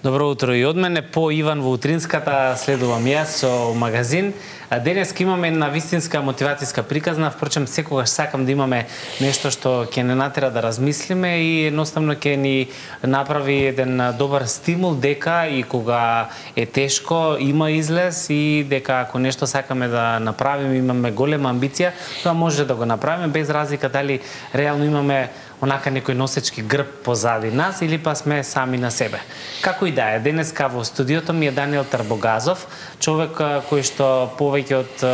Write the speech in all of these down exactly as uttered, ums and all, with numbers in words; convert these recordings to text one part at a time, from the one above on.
Добро утро и од мене, по Иван во утринската следувам јас со магазин. Денеска имаме една вистинска мотивацијска приказна, впрочем секогаш сакам да имаме нешто што ќе не натера да размислиме и едноставно ќе ни направи еден добар стимул дека и кога е тешко има излез и дека ако нешто сакаме да направиме, имаме голема амбиција, тоа може да го направиме без разлика дали реално имаме онака некој носечки грб позади нас или па сме сами на себе. Како и да е, денеска во студиото ми е Даниел Тарбогазов, човек кој што повеќе од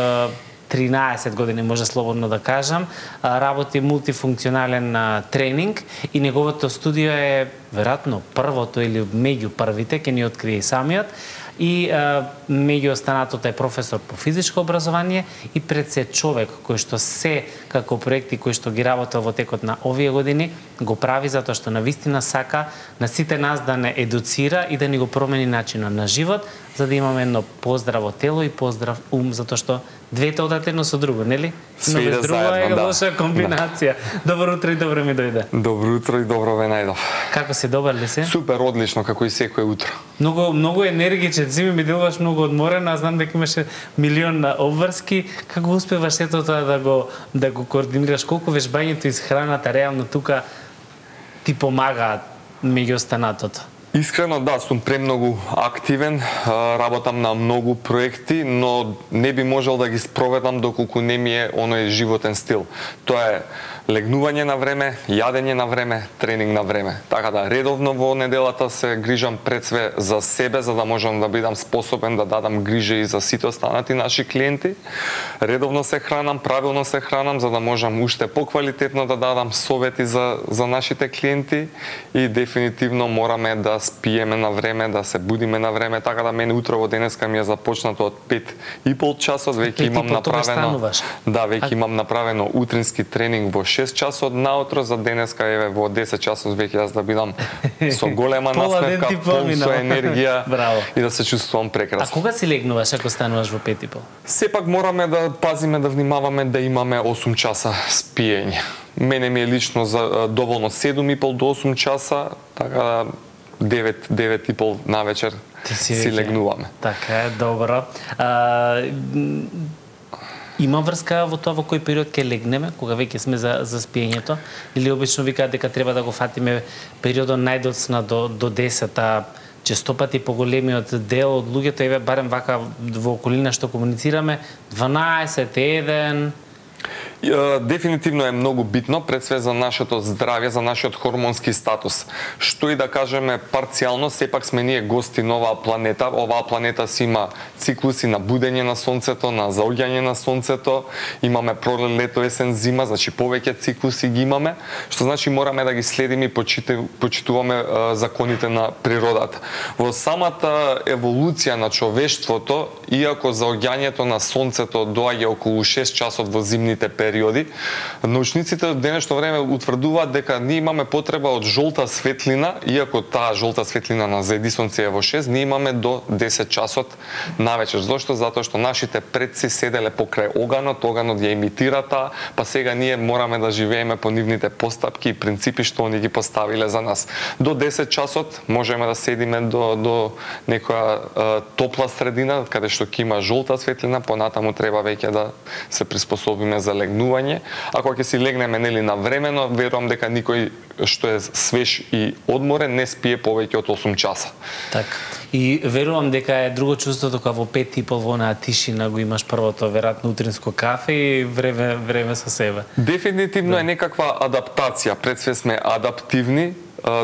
тринаесет години, може слободно да кажам, работи мултифункционален тренинг и неговото студио е веројатно првото или меѓу првите, ќе ни открие и самиот. И а, меѓу останатото е професор по физичко образование и пред се човек кој што се како проекти кои што ги работел во текот на овие години го прави затоа што навистина сака на сите нас да не едуцира и да ни го промени начинот на живот, за да имаме едно поздраво тело и поздрав ум, затоа што двете одат едно со друго, нели? Но без друго е лоша комбинација. Да. Добро утро и добро ми дојде. Добро утро и добро ве најдов. Како си, добар ли си? Супер, одлично, како и секое утро. Многу многу енергичен си, ми делуваш многу одморен, а знам дека имаше милион обврски. Како успеваш сето тоа да го да го координираш? Колку вежбањето и храната реално тука ти помагаат меѓу останатото? Искрено да, сум премногу активен, работам на многу проекти, но не би можел да ги спроведам доколку не ми е оној животен стил. Тоа е легнување на време, јадење на време, тренинг на време. Така да, редовно во неделата се грижам пред све за себе, за да можам да бидам способен да дадам грижа и за сите останати наши клиенти. Редовно се хранам, правилно се хранам, за да можам уште поквалитетно да дадам совети за, за нашите клиенти и дефинитивно мораме да спиеме на време, да се будиме на време, така да мене утрово денеска ми е започнато од пет и пол часот, веќе имам направено. Да, веќе имам направено утрински тренинг во шест часот наутро, за денеска еве во десет часот веќе јас да бидам со голема насмевка, пол со енергија и да се чувствувам прекрасно. А кога си легнуваш ако стануваш во пет и пол? Сепак мораме да пазиме, да внимаваме да имаме осум часа спиење. Мене ми е лично за доволно седум и пол до осум часа, така девет, девет и пол на вечер си, си легнуваме. Така е, добро. А, има врска во тоа во кој период ќе легнеме, кога веќе сме за, за спиењето? Или обично викаат дека треба да го фатиме периодот најдоцна до, до десет, а често пати поголемиот дел од луѓето, еве барем вака во околина што комуницираме, дванаесет, еден... Дефинитивно е многу битно, пред све за нашето здравје, за нашиот хормонски статус. Што и да кажеме парцијално, сепак сме ние гости на оваа планета. Оваа планета си има циклуси на будење на сонцето, на заоѓање на сонцето, имаме пролет, лето, есен, зима, значи повеќе циклуси ги имаме, што значи мораме да ги следиме и почитуваме законите на природата. Во самата еволуција на човештвото, иако заоѓањето на сонцето доаѓа околу шест часот во зимните периоди, научниците од денешно време утврдуваат дека ние имаме потреба од жолта светлина, иако таа жолта светлина на заеди сонце е во шест, ние имаме до десет часот навечер. Зошто? Затоа што нашите предци седеле покрај оганот, оганот ја имитира таа, па сега ние мораме да живееме по нивните постапки и принципи што они ги поставиле за нас. До десет часот можеме да седиме до, до некоја е, топла средина, каде што ќе има жолта светлина, понатаму треба веќе да се приспособиме за легнување. Ако ќе си легнеме нели на времено, верувам дека никој што е свеж и одморен не спие повеќе од осум часа. Така. И верувам дека е друго чувството кога во пет и пол во онаа тишина го имаш првото веројатно утринско кафе и време време со себе. Дефинитивно да. Е некаква адаптација. Пред све сме адаптивни,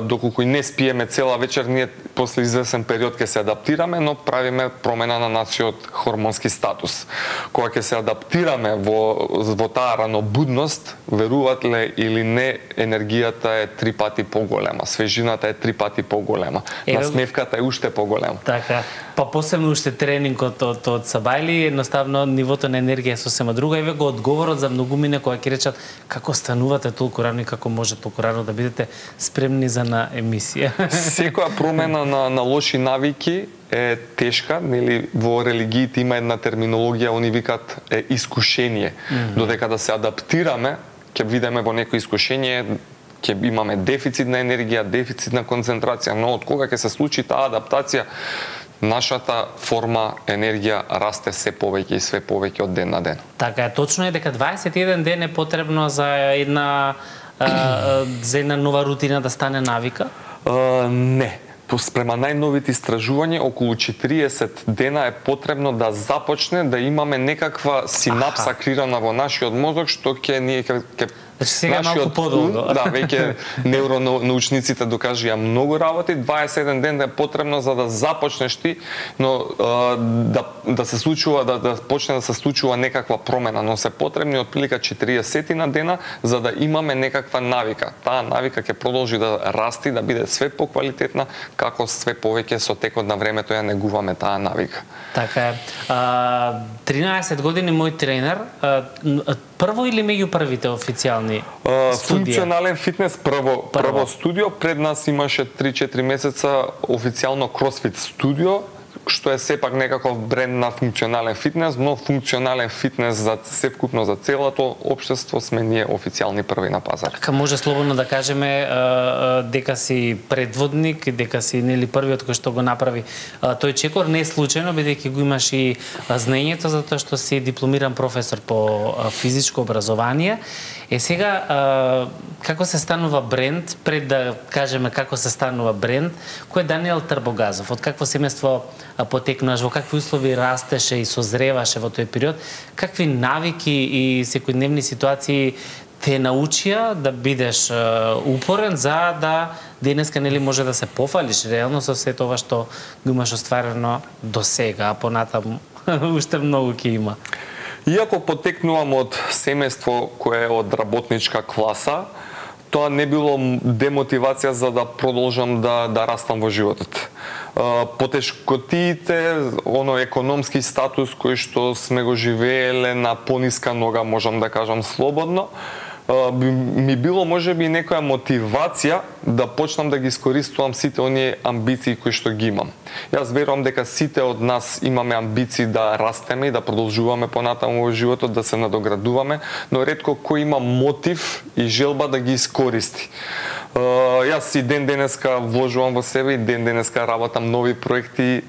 доколку и не спиеме цела вечер, ние после извесен период ќе се адаптираме, но правиме промена на нашиот хормонски статус. Кога ќе се адаптираме во, во таа ранобудност, веруватле или не, енергијата е три пати поголема, свежината е три пати поголема, е, насмевката е уште поголема. Така, па посебно уште тренингот од, од Сабајли, едноставно нивото на енергија е сосема друга. Еве го одговорот за многумине кои ќе речат како станувате толку рано и како може толку рано да бидете спремни за на емисија. Секоја промена на, на лоши навики е тешка, нели во религиите има една терминологија, они викаат е искушение. Mm -hmm. Додека да се адаптираме, ќе видиме во некој искушение ќе имаме дефицит на енергија, дефицит на концентрација, но од кога ќе се случи таа адаптација, нашата форма енергија расте се повеќе и све повеќе од ден на ден. Така е, точно е дека дваесет и еден ден е потребно за една а, за една нова рутина да стане навика? Uh, не. Спрема најновите истражувања, околу четириесет дена е потребно да започне да имаме некаква синапса Аха. крирана во нашиот мозок, што ќе ние ќе Значи сега малку подолго. Да, веќе невронаучниците докажија многу работи, дваесет и еден ден е потребно за да започнеш ти, но а, да да се случува да да почне да се случува некаква промена, но се потребни отприлика четириесет на дена за да имаме некаква навика. Таа навика ќе продолжи да расти, да биде све поквалитетна, како све повеќе со текот на времето ја негуваме таа навика. Така е. А, тринаесет години мој тренер, а, прво или меѓу првите официјални Uh, функционален фитнес прво, прво прво студио, пред нас имаше три-четири месеца официјално CrossFit студио, што е сепак некаков бренд на функционален фитнес, но функционален фитнес за севкупно за целото општество сме ние официјални први на пазар. Така може слободно да кажеме дека си предводник, дека си нели првиот кој што го направи тој чекор, не е случајно бидејќи го имаш и знаењето затоа што си дипломиран професор по физичко образование. Е сега, како се станува бренд, пред да кажеме како се станува бренд, кој е Даниел Трбогазов? Од какво семејство потекнуваш, во какви услови растеше и созреваше во тој период? Какви навики и секојдневни ситуации те научија да бидеш упорен за да денеска нели може да се пофалиш реално со се тоа што го имаш остварено до сега, а понатаму уште многу ќе има? Иако потекнувам од семејство кое е од работничка класа, тоа не било демотивација за да продолжам да да растам во животот. Потешкотиите, оно економски статус кој што сме го живееле на пониска нога, можам да кажам слободно, ми било можеби некоја мотивација да почнам да ги искористувам сите оние амбиции кои што ги имам. Јас верувам дека сите од нас имаме амбиции да растеме и да продолжуваме понатаму во животот, да се надоградуваме, но ретко кој има мотив и желба да ги искористи. Јас и ден денеска вложувам во себе и ден денеска работам нови проекти,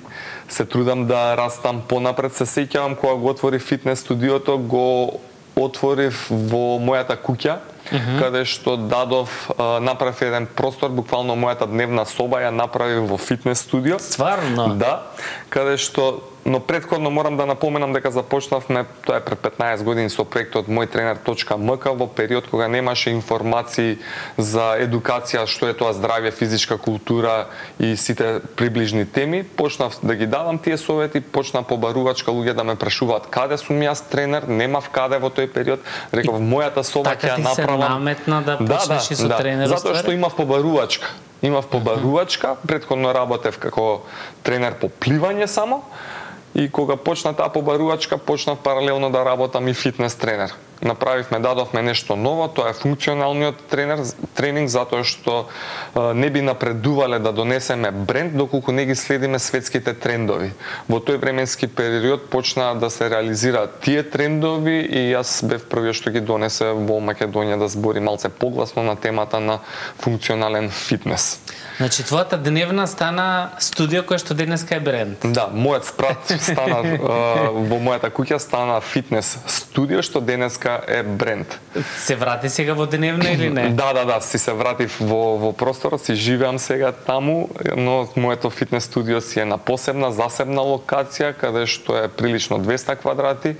се трудам да растам понапред. Се сеќавам кога го отвори фитнес студиото, го отворив во мојата куќа, uh-huh. каде што дадов, направив еден простор, буквално мојата дневна соба ја направив во фитнес студио. Стварно? Да, каде што, но претходно морам да напоменам дека започнавме, тоа е пред петнаесет години со проектот мој тренер точка ем ка во период кога немаше информации за едукација, што е тоа здравје, физичка култура и сите приближни теми. Почнав да ги давам тие совети, почна побарувачка луѓе да ме прашуваат каде сум јас тренер, немав каде во тој период. Реков мојата соба ќе ја направам. Така ти се наметна да почнеш да, и со да, тренер? Затоа што имав побарувачка. Имав побарувачка, претходно работев како тренер по пливање само. И кога почна таа побарувачка, почнав паралелно да работам и фитнес тренер. Направивме, дадовме нешто ново, тоа е функционалниот тренер, тренинг, затоа што е, не би напредувале да донесеме бренд доколку не ги следиме светските трендови. Во тој временски период почна да се реализираат тие трендови и јас бев првиот што ги донесе во Македонија да збори малце погласно на темата на функционален фитнес. Значи, твојата дневна стана студио кој што денеска е бренд. Да, мојот спрат стана во мојата куќа стана фитнес студио што денеска е бренд. Се врати сега во дневна или не? Да, да, да, си се вратив во во просторот, си живеам сега таму, но моето фитнес студио си е на посебна, засебна локација каде што е прилично двеста квадрати.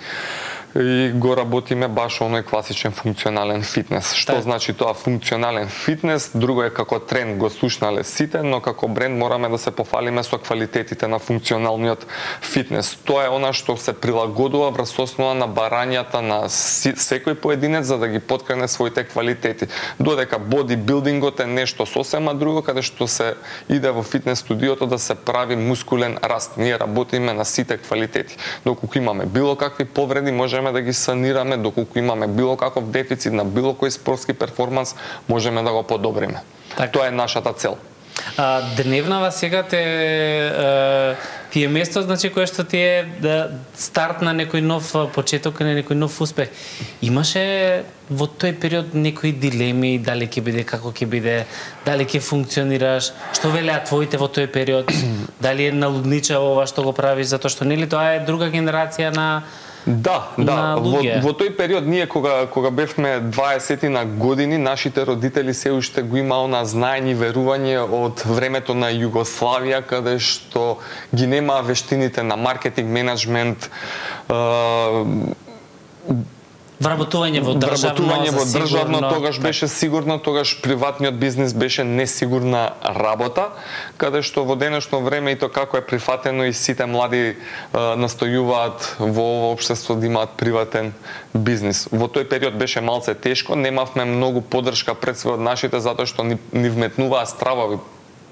И го работиме баш оној класичен функционален фитнес. Што так. Значи тоа функционален фитнес? Друго е како тренд го слушнале сите, но како бренд мораме да се пофалиме со квалитетите на функционалниот фитнес. Тоа е она што се прилагодува врз основа на барањата на секој поединец за да ги поткрene своите квалитети. Додека бодибилдингот е нешто сосема друго, каде што се иде во фитнес студиото да се прави мускулен раст. Ние работиме на сите квалитети. Доколку имаме било какви повреди, можеме да ги санираме, доколку имаме било каков дефицит на било кој спортски перформанс, можеме да го подобриме. Так. Тоа е нашата цел. А, дневнава сега те а, ти е место, значи, кое што ти е да старт на некој нов почеток, на некој нов успех. Имаше во тој период некои дилеми, дали ќе биде, како ќе биде, дали ќе функционираш, што велеа твоите во тој период, дали е налудничаво ова што го правиш, затоа што нели тоа е друга генерација на Да, да, во, во тој период ние кога кога бевме дваесет на години, нашите родители се уште го има она знаење и верување од времето на Југославија, каде што ги немаа вештините на маркетинг, менеджмент, вработување во државно, вработување во државно, тогаш беше сигурно, тогаш приватниот бизнис беше несигурна работа, каде што во денешно време и то како е прифатено и сите млади е, настојуваат во ова општество да имаат приватен бизнис. Во тој период беше малце тешко, немавме многу поддршка пред све од нашите затоа што ни, ни вметнуваа стравови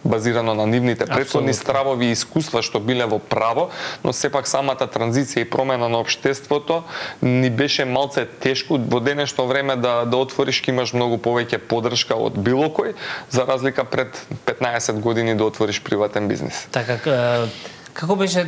базирано на нивните претходни стравови и искуства што биле во право, но сепак самата транзиција и промена на општеството ни беше малце тешко. Во денешно време да да отвориш ќе имаш многу повеќе поддршка од било кој, за разлика пред петнаесет години да отвориш приватен бизнис. Така, како беше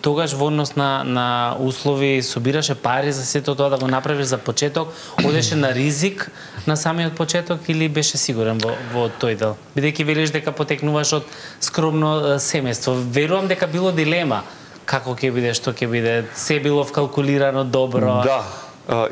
тогаш во однос на, на услови, собираше пари за сето тоа да го направиш за почеток, одеше на ризик на самиот почеток или беше сигурен во, во тој дел? Бидејќи велиш дека потекнуваш од скромно семејство, верувам дека било дилема како ќе биде, што ќе биде, се било вкалкулирано добро. Да,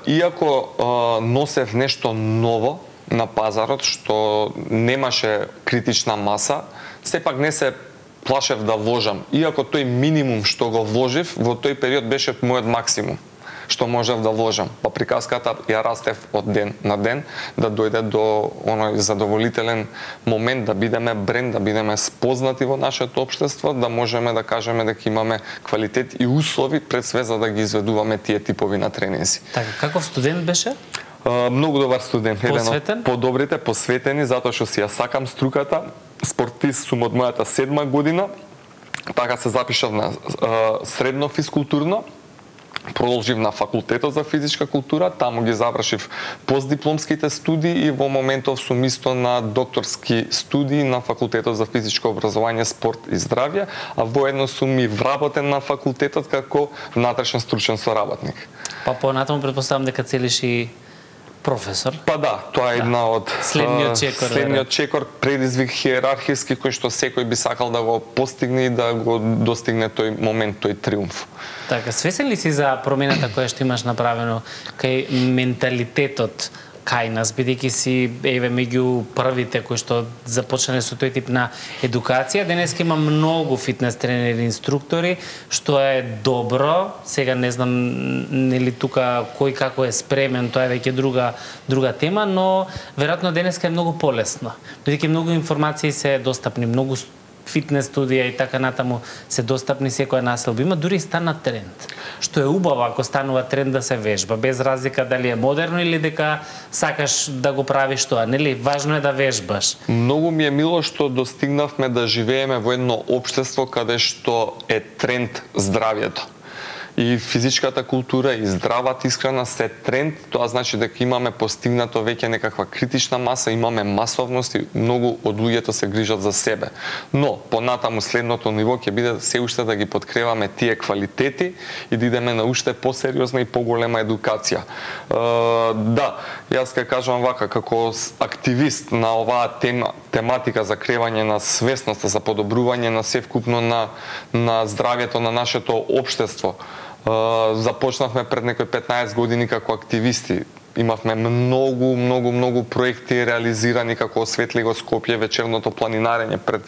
иако носев нешто ново на пазарот што немаше критична маса, сепак не се плашев да вложам. Иако тој минимум што го вложив, во тој период беше мојот максимум што можев да вложам. Па приказката ја растев од ден на ден, да дојде до оној задоволителен момент да бидеме бренд, да бидеме спознати во нашето општество, да можеме да кажеме дека имаме квалитет и услови пред све за да ги изведуваме тие типови на тренинзи. Така, каков студент беше? Uh, многу добар студент, посветен? еден од подобрите, посветени, затоа што си ја сакам струката. Спортист сум од мојата седма година, така се запишав на uh, средно физкултурно, продолжив на факултетот за физичка култура, таму ги завршив постдипломските студии и во моментов сум исто на докторски студии на факултетот за физичко образование, спорт и здравје, а воедно сум и вработен на факултетот како внатрешен стручен соработник. Па понатаму претпоставам дека целиш и професор. Па да, тоа е една од следниот чекор, следниот чекор, предизвик хиерархиски кој што секој би сакал да го постигне и да го достигне тој момент, тој триумф. Така, свесен ли си за промената која што имаш направено кај менталитетот кај нас, бидејќи си еве меѓу првите кои што започнале со тој тип на едукација? Денеска има многу фитнес тренери, инструктори, што е добро. Сега не знам нели тука кој како е спремен, тоа е веќе друга друга тема, но веројатно денеска е многу полесно. Бидејќи многу информации се достапни, многу фитнес студија и така натаму се достапни секоја населба. Има дури и стана тренд. Што е убаво ако станува тренд да се вежба, без разлика дали е модерно или дека сакаш да го правиш тоа, нели? Важно е да вежбаш. Многу ми е мило што достигнавме да живееме во едно општество каде што е тренд здравјето. И физичката култура и здравата исхрана се тренд, тоа значи дека имаме постигнато веќе некаква критична маса, имаме масовност и многу од луѓето се грижат за себе. Но понатаму следното ниво ќе биде се уште да ги подкрепаме тие квалитети и да идеме на уште посериозна и поголема едукација. Uh, да, јас ќе кажам вака, како активист на оваа тема, тематика за кревање на свесноста, за подобрување на севкупно на, на здравјето на нашето општество. Uh, започнавме пред некои петнаесет години како активисти. Имавме многу, многу, многу проекти реализирани како Осветли го Скопје, вечерното планинарење. Пред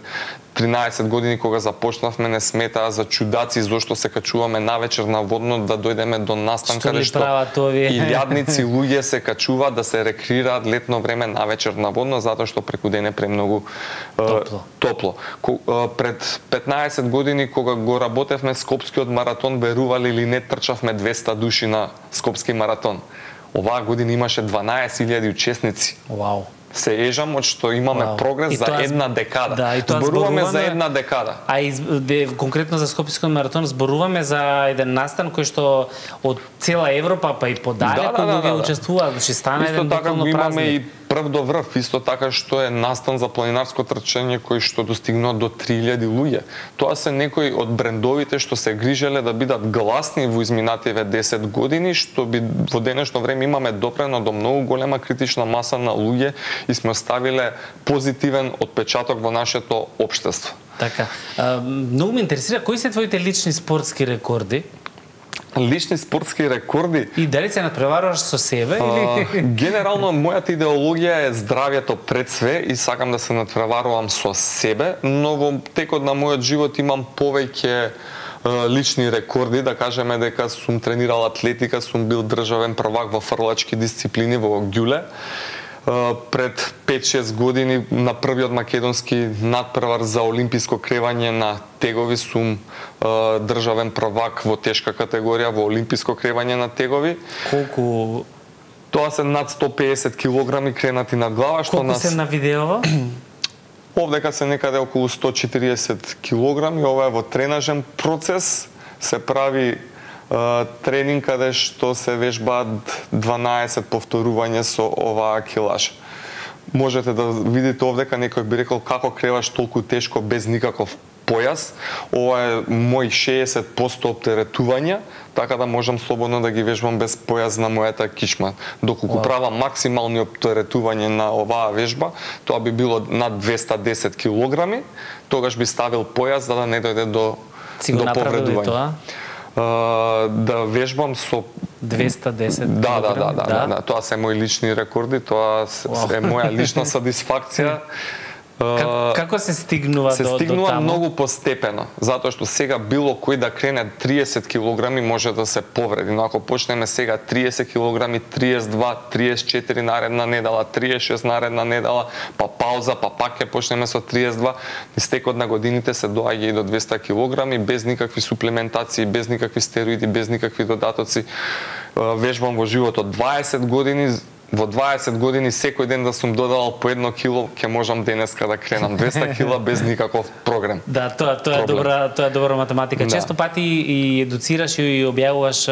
тринаесет години кога започнавме не сметаа за чудаци зошто се качуваме навечер на водно да дојдеме до настан каде што илјадници луѓе се качуваат да се рекреираат летно време навечер на водно затоа што преку ден е премногу топло. топло. Ко, пред петнаесет години кога го работевме Скопскиот маратон, верували или не, трчавме двеста души на Скопски маратон. Оваа година имаше дванаесет илјади учесници. Вау. Се ежам од што имаме Вау. прогрес за една декада. Да, и тоа зборуваме, зборуваме за една декада. А из, де, конкретно за Скопскиот маратон зборуваме за еден настан кој што од цела Европа па и подалеку да, да, да, луѓе да, да. учествуваат, значи стана еден буквално празник. Исто така го имаме и прв до врв, исто така што е настан за планинарско трчање кој што достигнува до три илјади луѓе. Тоа се некои од брендовите што се грижеле да бидат гласни во изминативе десет години, што би во денешно време имаме допрено до многу голема критична маса на луѓе и сме оставиле позитивен отпечаток во нашето општество. Така. А, многу ме интересира кои се твоите лични спортски рекорди? Лични спортски рекорди. И дали се надпреваруваш со себе или а, генерално мојата идеологија е здравјето пред све и сакам да се надпреварувам со себе, но во текот на мојот живот имам повеќе лични рекорди, да кажеме дека сум тренирал атлетика, сум бил државен првак во фрлачки дисциплини во ѓуле. Пред пет-шест години на првиот македонски надпревар за олимписко кревање на тегови сум државен првак во тешка категорија во олимписко кревање на тегови. Колку? Тоа се над сто пеесет килограми кренати на глава, што Колку нас... се на видеово? Овдека се некаде околу сто четириесет килограми, ова е во тренажен процес, се прави тренинг каде што се вежбаат дванаесет повторувања со оваа килаж. Можете да видите овдека, некој би рекол како креваш толку тешко без никаков појас. Ова е мој шеесет проценти оптеретувања, така да можам слободно да ги вежбам без појас на мојата кичма. Доколку wow. правам максимални оптеретување на оваа вежба, тоа би било над двеста десет килограми, тогаш би ставил појас за да не дојде до, до повредување. Uh, да вежбам со двеста десет да, да, да, да, да, да, тоа се мои лични рекорди, тоа wow. е моја лична сатисфакција. Како, како се стигнува се до, до стигнува таму? Многу постепено, затоа што сега било кој да крене триесет килограми може да се повреди, но ако почнеме сега триесет килограми, триесет два, триесет четири наредна недела, триесет шест наредна недела, па пауза, па пак ќе почнеме со триесет два, низ текот на годините се доаѓа и до двеста килограми без никакви суплементации, без никакви стероиди, без никакви додатоци. Вежбам во животот дваесет години. Во дваесет години секој ден да сум додавал по едно кило, ќе можам денеска да кренам двеста кила без никаков програм. Да, тоа тоа е добра, тоа е добра математика. Да. Често пати и едуцираш и објавуваш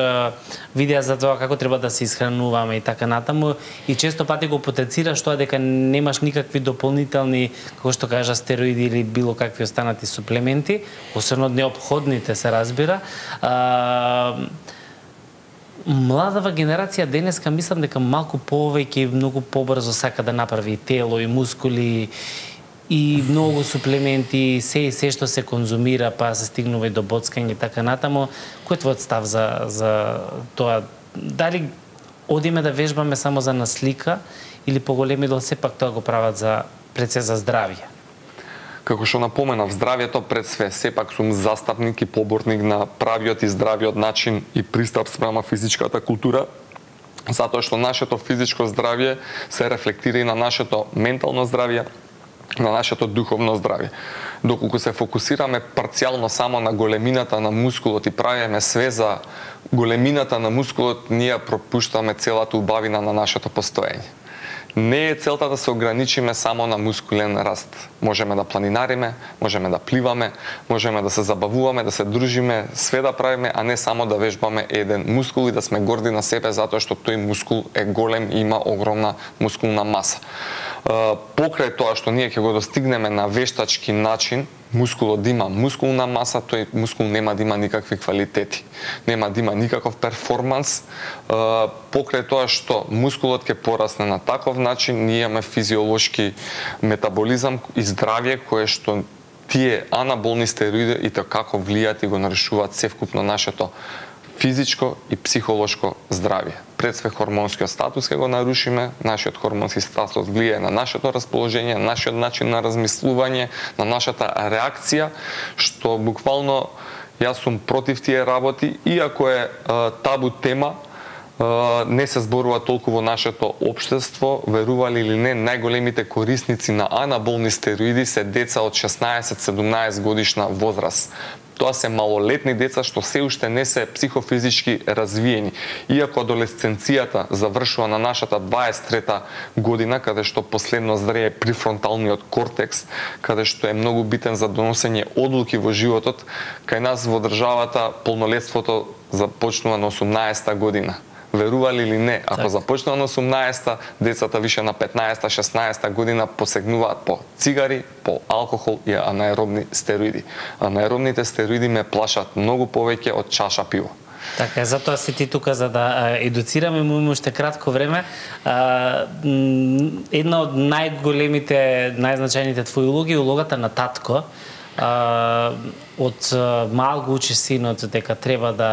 видеа за тоа како треба да се исхрануваме и така натаму, и често пати го потенцираш тоа дека немаш никакви дополнителни, како што кажа, стероиди или било какви останати суплементи, освен од неопходните се разбира. А, Младава генерација денеска мислам дека малку повеќе и многу побрзо сака да направи тело и мускули и многу суплементи, се и се што се конзумира, па се стигнува и до боцкање и така натаму. Кој е твојот став за за тоа? Дали одиме да вежбаме само за наслика или поголеми дел сепак тоа го прават за пред се за здравје? Како што напоменав, здравјето пред све, сепак сум застапник и поборник на правиот и здравиот начин и пристап спрема физичката култура, затоа што нашето физичко здравје се рефлектира и на нашето ментално здравје, на нашето духовно здравје. Доколку се фокусираме парцијално само на големината на мускулот и правиме све за големината на мускулот, ние пропуштаме целата убавина на нашето постоење. Не е целта да се ограничиме само на мускулен раст. Можеме да планинариме, можеме да пливаме, можеме да се забавуваме, да се дружиме, све да правиме, а не само да вежбаме еден мускул и да сме горди на себе затоа што тој мускул е голем и има огромна мускулна маса. Покрај тоа што ние ќе го достигнеме на вештачки начин, мускулот да има мускулна маса, тој мускул нема да има никакви квалитети, нема да има никаков перформанс. Покрај тоа што мускулот ќе порасне на таков начин, ние имаме физиолошки метаболизам и здравје кое што тие анаболни стероиди и тоа како влијаат и го нарушуваат севкупно нашето физичко и психолошко здравје. Пред све хормонскиот статус ќе го нарушиме, нашиот хормонски статус влијае на нашето расположение, нашиот начин на размислување, на нашата реакција, што буквално јас сум против тие работи, иако е а, табу тема, а, не се зборува толку во нашето општество, верували или не, најголемите корисници на анаболни стероиди се деца од шеснаесет-седумнаесет годишна возраст. Тоа се малолетни деца што се уште не се психофизички развиени. Иако адолесценцијата завршува на нашата дваесет и трета година, каде што последно зрее прифронталниот кортекс, каде што е многу битен за доносење одлуки во животот, кај нас во државата полнолетството започнува на осумнаесета година. верували или не, ако так. започнува на осумнаесетта, децата више на петнаесетта, шеснаесетта година посегнуваат по цигари, по алкохол и анаеробни стероиди. Анаеробните стероиди ме плашат многу повеќе од чаша пиво. Така, затоа си ти тука за да едуцираме, му има уште кратко време. Една од најголемите, најзначајните твои улоги е улогата на татко. Од мал го учи синот дека треба да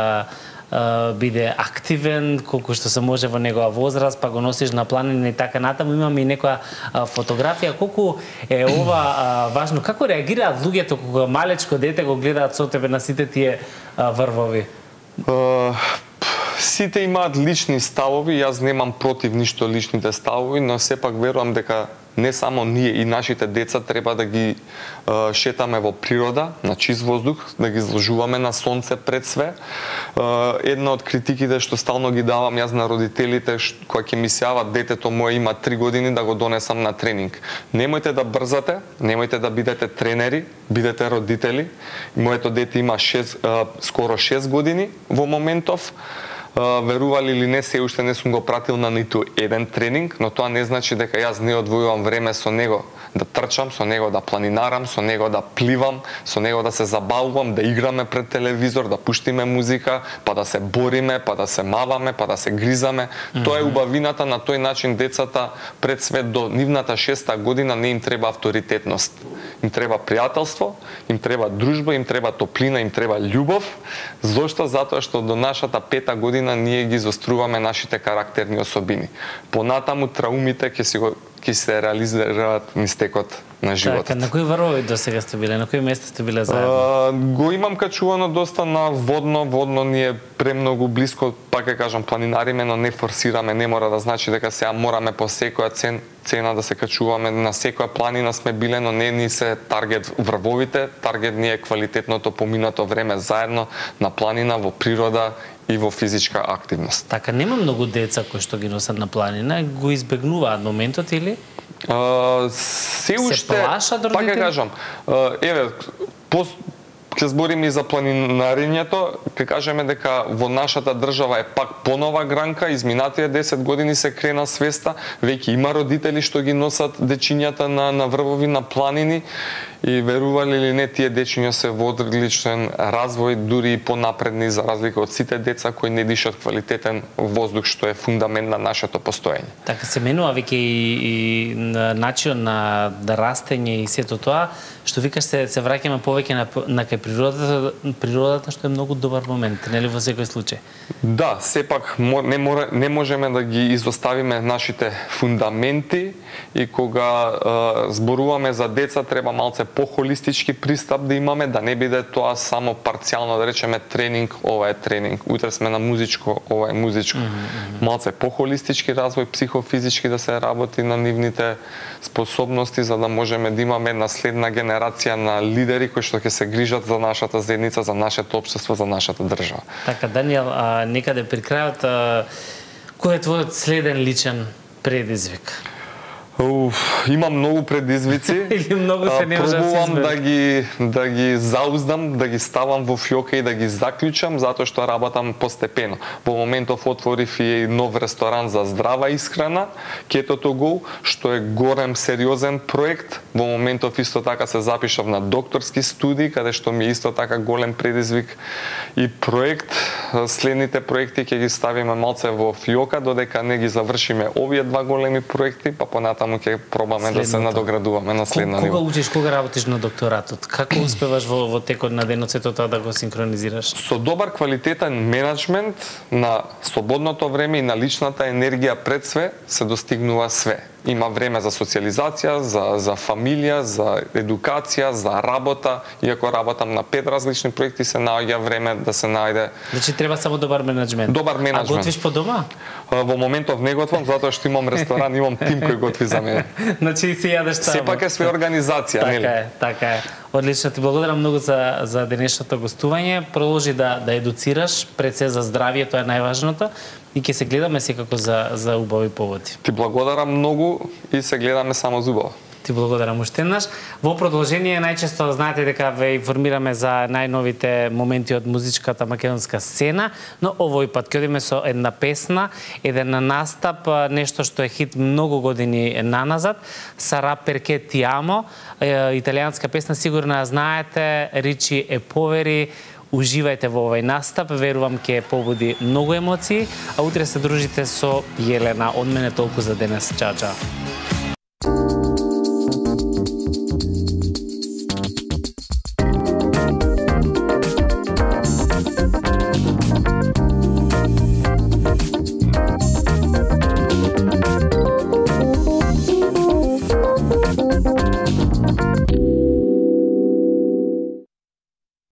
биде активен, колку што се може во негова возраст, па го носиш на планина и така натаму. Имаме и некоја фотографија. Колку е ова важно? Како реагираат луѓето кога малечко дете го гледаат со тебе на сите тие врвови? Uh, сите имаат лични ставови, јас немам против ништо личните ставови, но сепак верувам дека не само ние и нашите деца треба да ги uh, шетаме во природа, на чист воздух, да ги изложуваме на сонце пред све. Uh, една од критиките што стално ги давам јас на родителите, кои ќе ми се јават детето мое има три години да го донесам на тренинг. Немојте да брзате, немојте да бидете тренери, бидете родители. Моето дете има шест, uh, скоро шест години во моментов. Uh, верували или не, се уште не сум го пратил на ниту еден тренинг, но тоа не значи дека јас не одвојувам време со него да трчам, со него да планинарам, со него да пливам, со него да се забавувам, да играме пред телевизор, да пуштиме музика, па да се бориме, па да се маваме, па да се гризаме. Mm-hmm. Тоа е убавината, на тој начин децата пред свет до нивната шеста година не им треба авторитетност. Им треба пријателство, им треба дружба, им треба топлина, им треба љубов. Зошто? Затоа што до нашата пета година ние ги изоструваме нашите карактерни особини. Понатаму траумите ќе си го ќе се реализираат низ текот на животот. Така, на кои врвови до сега сте биле? На кои места сте биле заедно? А, го имам качувано доста на водно, водно ни е премногу блиско, пак ќе кажам, планинариме, но не форсираме, не мора да значи дека сега мораме по секоја цен, цена да се качуваме, на секоја планина сме биле, но не ни се таргет врвовите, таргет ни е квалитетното поминато време заедно на планина, во природа и во физичка активност. Така, нема многу деца кои што ги носат на планина, го избегнуваат моментот или? Uh, се уште, се плашат родители? Пак ќе кажам, uh, еве, пост, ќе збориме и за планинарењето, ќе кажеме дека во нашата држава е пак понова гранка, изминатите десет години се крена свеста, веќе има родители што ги носат дечињата на, на врвови, на планини, и верували или не, тие дечиња се во одличен развој, дури и понапредни за разлика од сите деца кои не дишат квалитетен воздух, што е фундамент на нашето постоење. Така се менува веќе и, и начин на да растење и сето тоа, што викаш се се враќаме повеќе на на кај природата, природата што е многу добар момент, нели во секој случај. Да, сепак не мора, не можеме да ги изоставиме нашите фундаменти и кога е, зборуваме за деца треба малце похолистички пристап да имаме, да не биде тоа само парцијално, да речеме тренинг, ова е тренинг, утре сме на музичко, ова е музичко. Mm -hmm. Малце похолистички развој, психофизички да се работи на нивните способности за да можеме да имаме една следна генерација на лидери кои што ќе се грижат за нашата заедница, за нашето општество, за нашата држава. Така, Даниел, а, некаде при крајот, а, кој е твојот следен личен предизвик? Уф, имам многу предизвици. Или многу се не може да се Пробувам да ги да ги зауздам, да ги ставам во фјока и да ги заклучам затоа што работам постепено. Во моментов отворив и нов ресторан за здрава исхрана, Keto to Go, што е голем сериозен проект. Во моментов исто така се запишав на докторски студии, каде што ми е исто така голем предизвик и проект. Следните проекти ќе ги ставиме малце во фјока додека не ги завршиме овие два големи проекти, па понатаму ќе пробаме Следното. Да се надоградуваме на следна ниво. Кога учиш, кога работиш на докторатот? Како успеваш во, во текот на денот сето тоа да го синхронизираш? Со добар квалитетен менеджмент на слободното време и на личната енергија пред све се достигнува све. Има време за социализација, за, за фамилија, за едукација, за работа. Иако работам на пет различни проекти, се наоѓа време да се најде... Значи треба само добар менеджмент. Добар менеджмент. А готвиш по дома? Во моментов не готвам, затоа што имам ресторан, имам тим кој готви за мене. Значи си јадеш тамо. Сепак е све организација, така нели? Така е, така е. Одлично, ти благодарам многу за, за денешното гостување. Продолжи да, да едуцираш, пред се за здравје, тоа е најважното. И ќе се гледаме секако за, за убави поводи. Ти благодарам многу и се гледаме само за убаво. Ти благодарам уште еднаш. Во продолжение, најчесто знаете дека ве информираме за најновите моменти од музичката македонска сцена, но овој пат ќе одиме со една песна, еден настап, нешто што е хит многу години наназад, Сара перке ти амо, италијанска песна, сигурно ја знаете, Ричи е повери. Уживајте во овој настап, верувам ќе побуди многу емоции, а утре се дружите со Јелена. Од мене толку за денес. Чао, чао.